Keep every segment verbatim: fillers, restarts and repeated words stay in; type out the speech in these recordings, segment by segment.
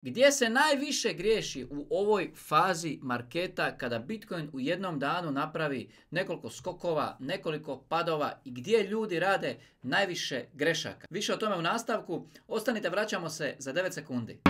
Gdje se najviše griješi u ovoj fazi marketa kada Bitcoin u jednom danu napravi nekoliko skokova, nekoliko padova i gdje ljudi rade najviše grešaka? Više o tome u nastavku. Ostanite, vraćamo se za devet sekundi.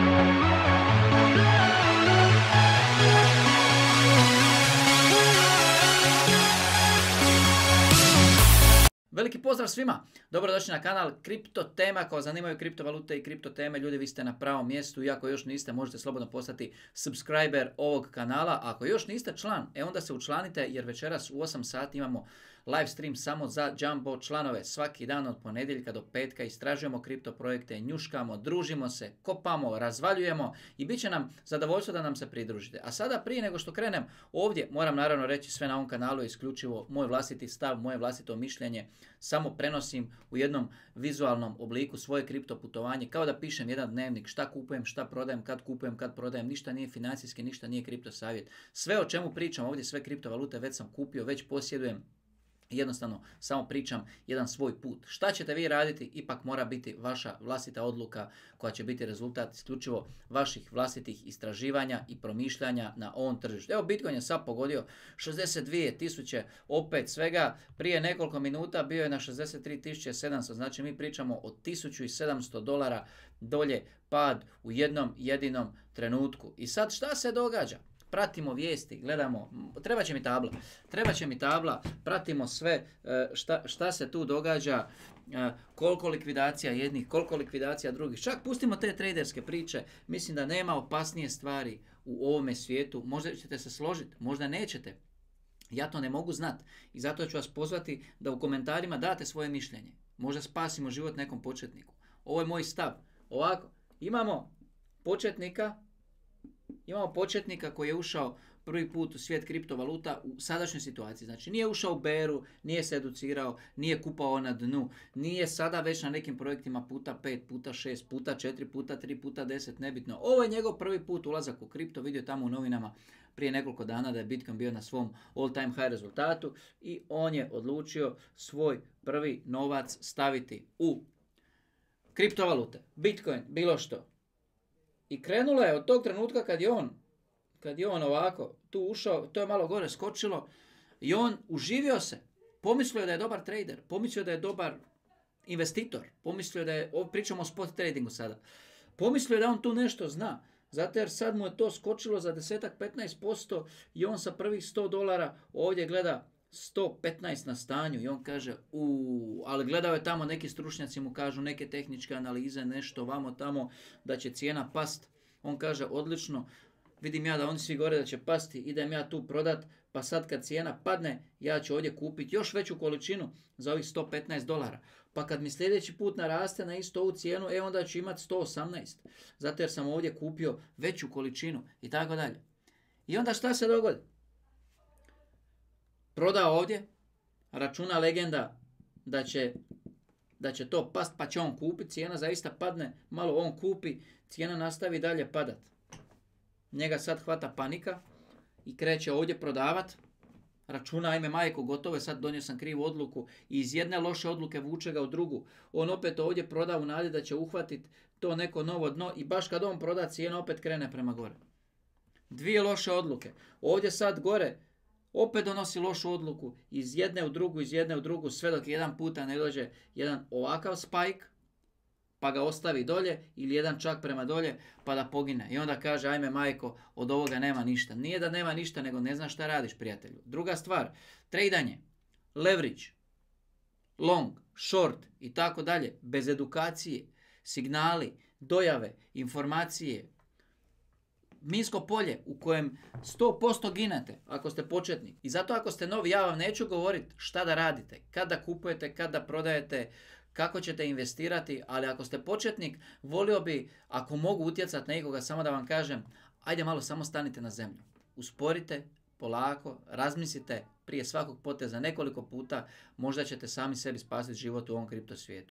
Veliki pozdrav svima, dobrodošli na kanal Kripto Tema. Ako vas zanimaju kriptovalute i kripto teme, ljudi, vi ste na pravom mjestu. I ako još niste, možete slobodno postati subscriber ovog kanala. A ako još niste član, e onda se učlanite, jer večeras u osam sati imamo live stream samo za Jumbo članove. Svaki dan od ponedjeljka do petka istražujemo kripto projekte, njuškamo, družimo se, kopamo, razvaljujemo i bit će nam zadovoljstvo da nam se pridružite. A sada, prije nego što krenem ovdje, moram naravno reći, sve na ovom kanalu je isključivo moj vlastiti stav, moje vlastito mišljenje. Samo prenosim u jednom vizualnom obliku svoje kripto putovanje, kao da pišem jedan dnevnik, šta kupujem, šta prodajem, kad kupujem, kad prodajem. Ništa nije financijski, ništa nije kripto savjet. Sve o čemu pričam ovdje, sve kriptovalute već sam kupio, već posjedujem. Jednostavno samo pričam jedan svoj put. Šta ćete vi raditi, ipak mora biti vaša vlastita odluka koja će biti rezultat isključivo vaših vlastitih istraživanja i promišljanja na ovom tržištu. Evo, Bitcoin je sad pogodio šezdeset dvije tisuće, opet svega prije nekoliko minuta bio je na šezdeset tri tisuće sedamsto, znači mi pričamo o tisuću sedamsto dolara dolje pad u jednom jedinom trenutku. I sad šta se događa? Pratimo vijesti, gledamo, treba će mi tabla, treba će mi tabla, pratimo sve šta, šta se tu događa, koliko likvidacija jednih, koliko likvidacija drugih. Čak pustimo te traderske priče, mislim da nema opasnije stvari u ovome svijetu. Možda ćete se složiti, možda nećete. Ja to ne mogu znati i zato ću vas pozvati da u komentarima date svoje mišljenje. Možda spasimo život nekom početniku. Ovo je moj stav. Ovako, imamo početnika, Imamo početnika koji je ušao prvi put u svijet kriptovaluta u sadašnjoj situaciji. Znači nije ušao u beru, nije se educirao, nije kupao na dnu, nije sada već na nekim projektima puta pet, puta šest, puta četiri, puta tri, puta deset, nebitno. Ovo je njegov prvi put ulazak u kripto, vidio tamo u novinama prije nekoliko dana da je Bitcoin bio na svom all time high rezultatu i on je odlučio svoj prvi novac staviti u kriptovalute, Bitcoin, bilo što. I krenulo je od tog trenutka kad je on, kad je on ovako tu ušao, to je malo gore skočilo i on uživio se. Pomislio da je dobar trader, pomislio da je dobar investitor, pomislio da je, pričamo o spot tradingu sada, pomislio da on tu nešto zna. Zato jer sad mu je to skočilo za deset do petnaest posto i on sa prvih sto dolara ovdje gleda sto petnaest na stanju i on kaže uuu, ali gledao je tamo, neki stručnjaci mu kažu, neke tehničke analize, nešto vamo tamo, da će cijena past. On kaže odlično, vidim ja da oni svi gore da će pasti, idem ja tu prodat, pa sad kad cijena padne, ja ću ovdje kupiti još veću količinu za ovih sto petnaest dolara. Pa kad mi sljedeći put naraste na istu ovu cijenu, e onda ću imati sto osamnaest, zato jer sam ovdje kupio veću količinu i tako dalje. I onda šta se dogodi? Proda ovdje, računa legenda da će, da će to past, pa će on kupiti, cijena zaista padne, malo on kupi, cijena nastavi dalje padat. Njega sad hvata panika i kreće ovdje prodavat, računa, ajme majko, gotovo je, sad donio sam krivu odluku i iz jedne loše odluke vuče ga u drugu. On opet ovdje proda u nadi da će uhvatiti to neko novo dno i baš kad on proda, cijena opet krene prema gore. Dvije loše odluke. Ovdje sad gore opet donosi lošu odluku, iz jedne u drugu, iz jedne u drugu, sve dok jedan puta ne dođe jedan ovakav spike, pa ga ostavi dolje, ili jedan čak prema dolje, pa da pogine. I onda kaže, ajme majko, od ovoga nema ništa. Nije da nema ništa, nego ne znaš šta radiš, prijatelju. Druga stvar, tradanje, leverage, long, short i tako dalje, bez edukacije, signali, dojave, informacije, minsko polje u kojem sto posto ginete ako ste početnik. I zato ako ste novi, ja vam neću govoriti šta da radite, kada kupujete, kada prodajete, kako ćete investirati, ali ako ste početnik, volio bi, ako mogu utjecati na nekoga, samo da vam kažem, ajde malo samo stanite na zemlju. Usporite, polako, razmislite prije svakog poteza nekoliko puta, možda ćete sami sebi spasiti život u ovom kripto svijetu.